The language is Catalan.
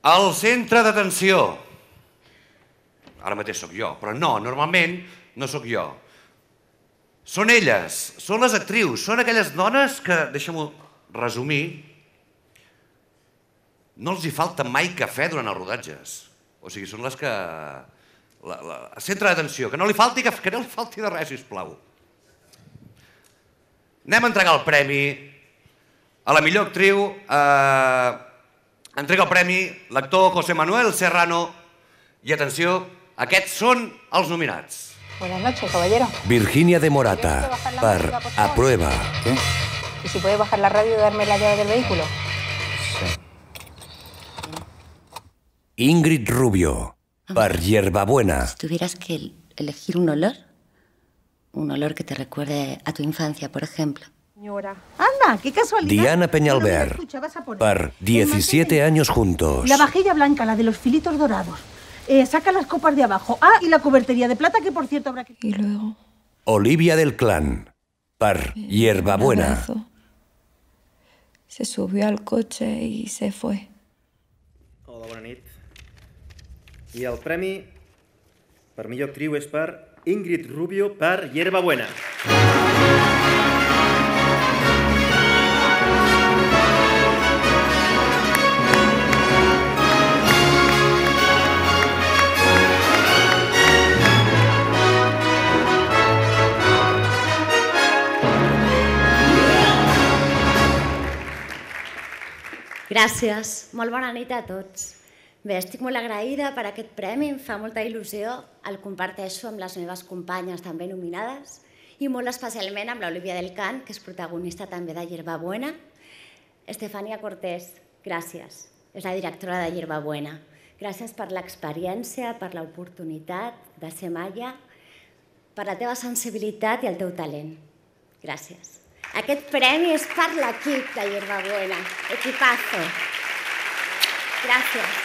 El centre d'atenció. Ara mateix sóc jo, però no, normalment no sóc jo. Són elles, són les actrius, són aquelles dones que, deixa'm-ho resumir, no els hi falta mai cafè durant els rodatges. O sigui, són les que... Centre d'atenció, que no li falti cafè, que no li falti de res, sisplau. Anem a entregar el premi a la millor actriu. Entrega el premi l'actor José Manuel Serrano. I atenció, aquests són els nominats. Buenas noches, caballero. Virginia de Morata, per Aprueba. ¿Qué? ¿Y si puede bajar la radio y darme la llave del vehículo? Sí. Ingrid Rubio, per Hierbabuena. Si tuvieras que elegir un olor que te recuerde a tu infancia, por ejemplo. Señora. Anda, qué casualidad. Diana Peñalver, per 17 años juntos. La vajilla blanca, la de los filitos dorados. Saca las copas de abajo. Ah, y la cubertería de plata, que por cierto habrá que... Y luego... Olivia del Clan, per Hierbabuena. Se subió al coche y se fue. Hola, bona nit. I el premi per millor actriu és per Ingrid Rubio per Hierbabuena. Gràcies. Molt bona nit a tots. Bé, estic molt agraïda per aquest premi, em fa molta il·lusió, el comparteixo amb les meves companyes també nominades i molt especialment amb l'Olivia del Clan, que és protagonista també de Hierbabuena. Estefania Cortés, gràcies. És la directora de Hierbabuena. Gràcies per l'experiència, per l'oportunitat de ser Maya, per la teva sensibilitat i el teu talent. Gràcies. Aquest premi és per l'equip de Hierbabuena. Equipazo. Gràcies.